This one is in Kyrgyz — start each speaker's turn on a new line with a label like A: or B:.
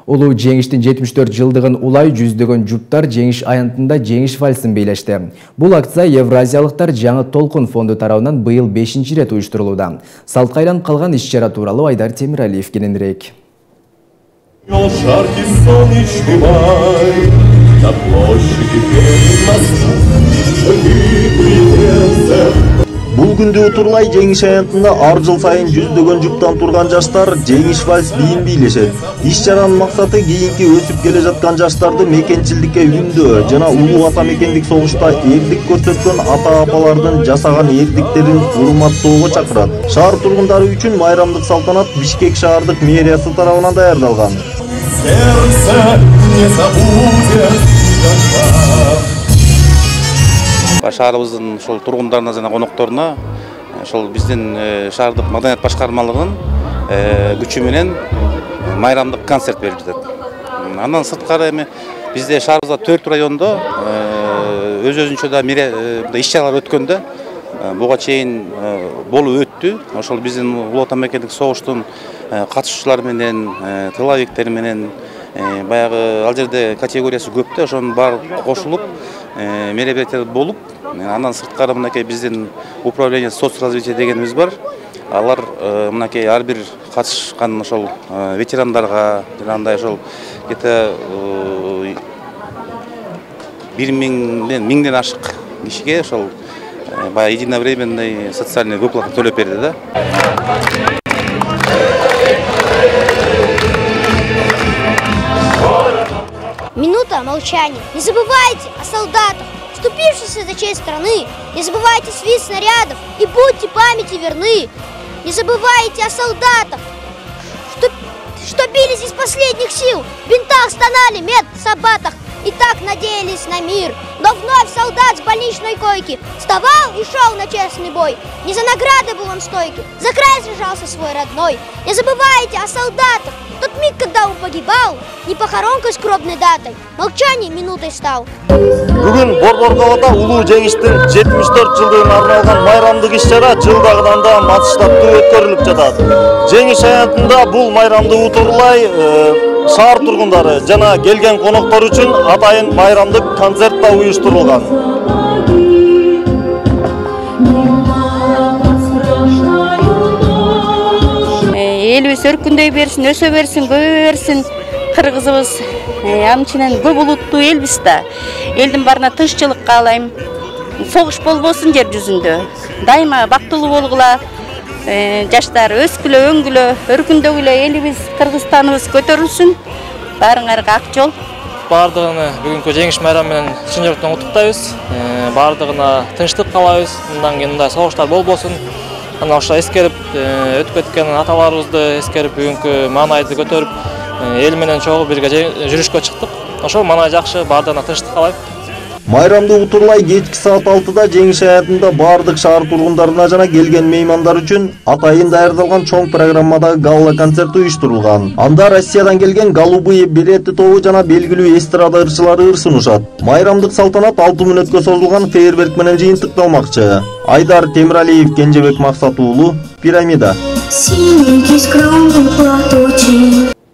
A: Улуу жеңиштин 74 жылдыгын улай жүздөгөн журттар жеңиш аянтында жеңиш вальсин бийлешти. Бул акция Евразиялыктар жаңы толкун фонду тарабынан быйыл 5-чи рет уюштурулууда. Салтка айланып калган иш-чара тууралуу Айдар Темиралиев кененирээк.
B: Бул күндү утурлай жеңиш аянтында ар жыл сайын жүздөгөн жуптан турган жаштар жеңиш вальс бийин бийлешет. Иш-чаранын максаты кийинки өсүп келе жаткан жаштарды мекенчилдикке үндөө жана улуу ата мекендик согушта эрдик көрсөткөн ата-апалардын жасаган эрдиктерин урматтоого чакырат. Шаар тургундары үчүн майрамдык салтанат Бишкек шаардык мэриясы тарабынан даярдалган.
C: Шаарыбыздын ошол тургундарына жана конокторуна ошол биздин шаардык маданият башкармалыгынын күчү менен майрамдык концерт берип жатат. Андан сырткары эми бизде шаарыбызда 4 райондо өз-өзүнчө да иш-чаралар өткөндө буга чейин болуп өттү. Ошол биздин улуу ата мекендик согуштун катышуучулары менен, тыловиктер менен баягы ал жерде категориясы көп да, ошонун баары кошулуп мероприятия болуп, андан сырткары мынакей биздин управление соцразвития дегенибиз бар. Алар мынакей ар бир катышкан ошол ветерандарга жанагындай ошол где-то 1000ден ашык кишиге ошол баягы единовременный социальный выплата төлөп берди да.
D: Минута молчания. Не забывайте о солдатах, вступившихся за честь страны. Не забывайте свист снарядов и будьте памяти верны. Не забывайте о солдатах, что бились из последних сил, в бинтах стонали, медсабатах и так надеялись на мир. Но вновь солдат с больничной койки вставал и шел на честный бой. Не за награды был он стойкий, за край сражался свой родной. Не забывайте о солдатах, тот миг, когда он погибал, не похоронкой скромной датой, молчание минутой стал.
B: Бүгүн Борбор-Калада улуу жеңиштин 74 жылдыгына арналган майрамдык иш-чара жылдагыдан да масштабтуу өткөрүлүп жатат. Жеңиш аянтында бул майрамды утурлай шаар тургундары жана келген коноктор үчүн атайын майрамдык концерт да уюштурулган.
E: Элибиз өркүндөй берсин, өсө берсин, көбөйө берсин. Кыргызыбыз амчынын көп улуттуу элбиз да. Элдин баарына тынччылык каалайм. Согуш болбосун жер жүзүндө. Дайыма бактылуу болгула. Жаштар өскүлө, өңгүлө, өркүндөгүлө элибиз, Кыргызстаныбыз көтөрүлсүн. Баарыңарга ак жол.
F: Бардыгыны бүгүнкү жеңиш майрамы менен чын жүрөктөн куттуктайбыз. Бардыгына тынчтык каалайбыз. Мындан кийин мындай согуштар болбосун. Ана ошо эскерип өтүп кеткен аталарыбызды эскерип бүгүнкү маанайды көтөрүп эл менен чогуу бирге жүрүшкө чыктык. Ошол маанай жакшы, бардыгына тынчтык каалайм.
B: Майрамды утурлай кечки саат 6-да жеңиш аянтында бардык шаар тургундарына жана келген меймандар үчүн атайын даярдалган чоң программадагы галла концерт уюштурулган. Анда Россиядан келген Голубые береты тобу жана белгилүү эстрада ырчылары ыр сунушат. Майрамдык салтанат 6 мүнөткө созулган фейерверк менен жыйынтыкталмакчы. Айдар Темиралиев, Кенжебек Максат уулу, Пирамида.